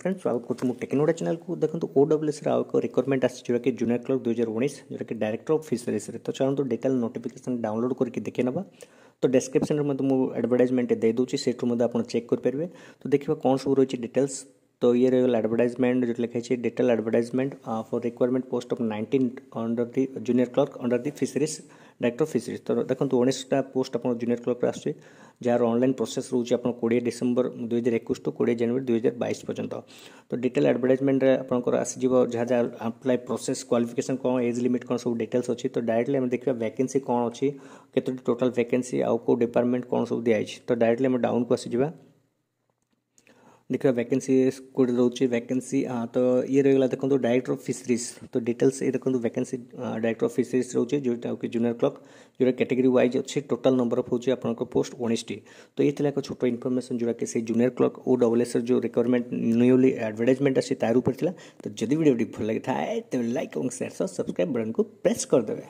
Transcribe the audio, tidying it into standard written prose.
Friend, ସ୍ୱାଗତ କରୁଛି ମୁଁ ଟେକ୍ନୋଡା ଚ୍ୟାନେଲକୁ। ଦେଖନ୍ତୁ, ଓଡବ୍ଲ୍ୟୁଏସ୍ର ଆଉ ଏକ ରିକ୍ରୁଟମେଣ୍ଟ ଆସିଛି, ଯେଉଁଟାକି ଜୁନିୟର କ୍ଲର୍କ 2019, ଯେଉଁଟାକି ଡାଇରେକ୍ଟର ଅଫ୍ ଫିସରିଜ୍ରେ। ତ ଚାଲନ୍ତୁ, ଡିଟେଲ୍ ନୋଟିଫିକେସନ୍ ଡାଉନଲୋଡ଼ କରିକି ଦେଖି ନେବା। ତ ଡେସ୍କ୍ରିପ୍ସନ୍ରେ ମଧ୍ୟ ମୁଁ ଆଡ଼ଭର୍ଟାଇଜମେଣ୍ଟ ଦେଇଦେଉଛି, ସେଇଠୁ ମଧ୍ୟ ଆପଣ ଚେକ୍ କରିପାରିବେ। ତ ଦେଖିବା କ'ଣ ସବୁ ରହିଛି ଡିଟେଲ୍ସ। ତ ଇଏ ରହିଗଲା ଆଡ଼ଭର୍ଟାଇଜମେଣ୍ଟ, ଯେଉଁଠି ଲେଖା ହେଇଛି "Detail advertisement for recruitment post of 19 under the junior clerk under the fisheries, director fisheries"। ତ ଦେଖନ୍ତୁ, 19ଟା ପୋଷ୍ଟ ଆପଣ ଜୁନିୟର କ୍ଲର୍କରେ ଆସୁଛି, ଯାହାର ଅନଲାଇନ୍ ପ୍ରୋସେସ୍ ରହୁଛି ଆପଣ 20 ଡିସେମ୍ବର 2021 ଟୁ 20 ଜାନୁଆରୀ 2022 ପର୍ଯ୍ୟନ୍ତ। ତ ଡିଟେଲ୍ ଆଡ଼ଭର୍ଟାଇଜମେଣ୍ଟରେ ଆପଣଙ୍କର ଆସିଯିବ ଯାହା ଯାହା ଆପ୍ଲାଏ ପ୍ରୋସେସ୍, କ୍ୱାଲିଫିକେସନ୍ କ'ଣ, ଏଜ୍ ଲିମିଟ୍ କ'ଣ, ସବୁ ଡିଟେଲ୍ସ ଅଛି। ତ ଡାଇରେକ୍ଟଲି ଆମେ ଦେଖିବା ଭ୍ୟାକେନ୍ସି କ'ଣ ଅଛି, କେତୋଟି ଟୋଟାଲ୍ ଭ୍ୟାକେନ୍ସି ଆଉ କେଉଁ ଡିପାର୍ଟମେଣ୍ଟ କ'ଣ ସବୁ ଦିଆଯାଇଛି। ତ ଡାଇରେକ୍ଟଲି ଆମେ ଡାଉନକୁ ଆସିଯିବା, ଦେଖିବା ଭ୍ୟାକେନ୍ସି କେଉଁଠି ରହୁଛି ଭ୍ୟାକେନ୍ସି। ତ ଇଏ ରହିଗଲା ଦେଖନ୍ତୁ ଡାଇରେକ୍ଟର ଅଫ୍ ଫିସରିଜ୍। ତ ଡିଟେଲ୍ସ ଏ ଦେଖନ୍ତୁ, ଭ୍ୟାକେନ୍ସି ଡାଇରେକ୍ଟର ଅଫ୍ ଫିସରିଜ୍ ରହୁଛି, ଯେଉଁଟା କି ଜୁନିୟର କ୍ଲର୍କ, ଯେଉଁଟା କ୍ୟାଟେଗୋରୀ ୱାଇଜ୍ ଅଛି। ଟୋଟାଲ୍ ନମ୍ବର ଅଫ୍ ହେଉଛି ଆପଣଙ୍କ ପୋଷ୍ଟ 19ଟି। ତ ଇଏ ଥିଲା ଏକ ଛୋଟ ଇନଫର୍ମେସନ୍, ଯେଉଁଟାକି ସେଇ ଜୁନିୟର କ୍ଲର୍କ ଓଡବ୍ଲ୍ୟୁଏସ୍ର ଯେଉଁ ରିକ୍ରୁଟମେଣ୍ଟ ନ୍ୟୁଲି ଆଡ଼ଭର୍ଟାଇଜମେଣ୍ଟ ଅଛି, ତାର ଉପରେ ଥିଲା। ତ ଯଦି ଭିଡ଼ିଓଟି ଭଲ ଲାଗିଥାଏ, ତେବେ ଲାଇକ୍ ଏବଂ ସେୟାର ସହ ସବସ୍କ୍ରାଇବ୍ ବଟନ୍କୁ ପ୍ରେସ୍ କରିଦେବେ।